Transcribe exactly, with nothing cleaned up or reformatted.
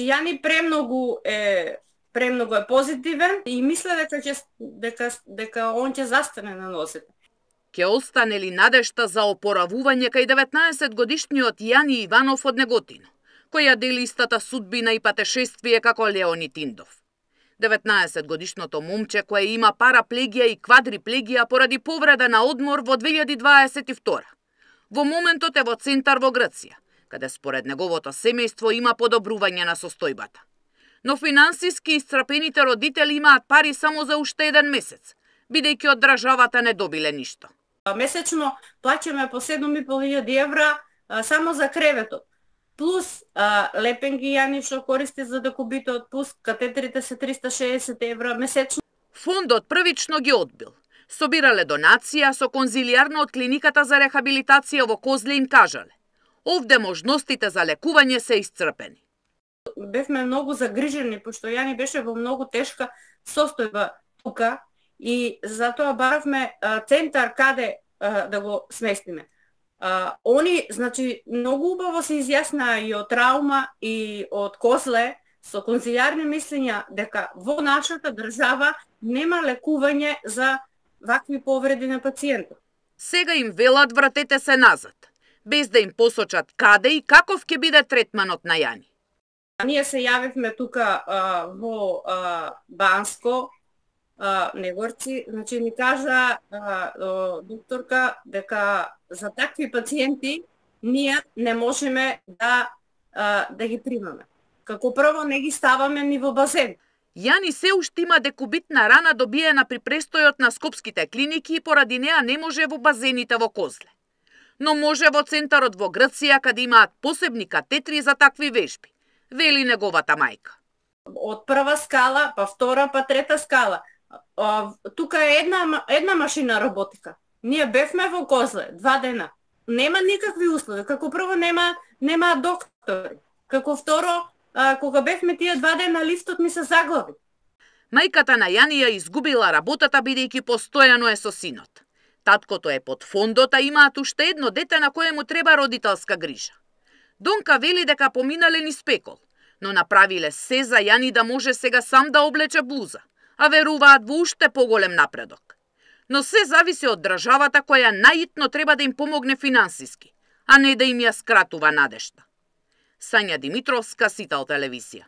Јани премногу е премногу е позитивен и мисле дека ќе дека дека он ќе застане на носите. Ќе остане ли надежта за опоравување кај деветнаесет годишниот Јани Иванов од Неготино, која дели истата судбина и патешествие како Леонид Индов? деветнаесет годишното момче кое има параплегија и квадриплегија поради повреда на одмор во две илјади дваесет и втора. Во моментот е во центар во Грција, каде според неговото семејство има подобрување на состојбата. Но финансиски исцрпените родители имаат пари само за уште еден месец, бидејќи од државата не добиле ништо. Месечно плаќаме по седум и пол илјади евра а, само за креветот. Плюс а, лепенги Јани што користи за декубитот, плюс катетерите се триста шеесет евра месечно. Фондот првично ги одбил. Собирале донација со конзилијарно од клиниката за рехабилитација во Козле им кажале: овде можностите за лекување се исцрпени. Бевме многу загрижени, пошто Јани беше во многу тешка состојба тука и затоа баравме а, центар каде а, да го сместиме. А, они, значи, многу убаво се изјаснаа и од травма и од Козле со конзилијарни мислења дека во нашата држава нема лекување за вакви повреди на пациентот. Сега им велат вратете се назад, без да им посочат каде и каков ќе биде третманот на Јани. Ние се јавивме тука а, во а, Банско, а, Негорци, значи ни кажа а, докторка дека за такви пациенти ние не можеме да а, да ги примаме. Како прво не ги ставаме ни во базен. Јани се уште има декубитна рана добиена при престојот на скопските клиники и поради неа не може во базените во Козле. Но може во центарот во Грција каде имаат посебни катетри за такви вежби, вели неговата мајка. Од прва скала, па втора, па трета скала. А, тука е една една машина роботика. Ние бевме во Козле два дена. Нема никакви услови. Како прво нема нема доктори. Како второ, а, кога бевме тие два дена лифтот ми се заглави. Мајката на Јани ја изгубила работата бидејќи постојано е со синот. Таткото е под фондот, а имаат уште едно дете на кое му треба родителска грижа. Донка вели дека поминале низ пекол, но направиле се за Јани да може сега сам да облече блуза, а веруваат во уште поголем напредок. Но се зависи од државата која најитно треба да им помогне финансиски, а не да им ја скратува надежта. Сања Димитровска, Сител телевизија.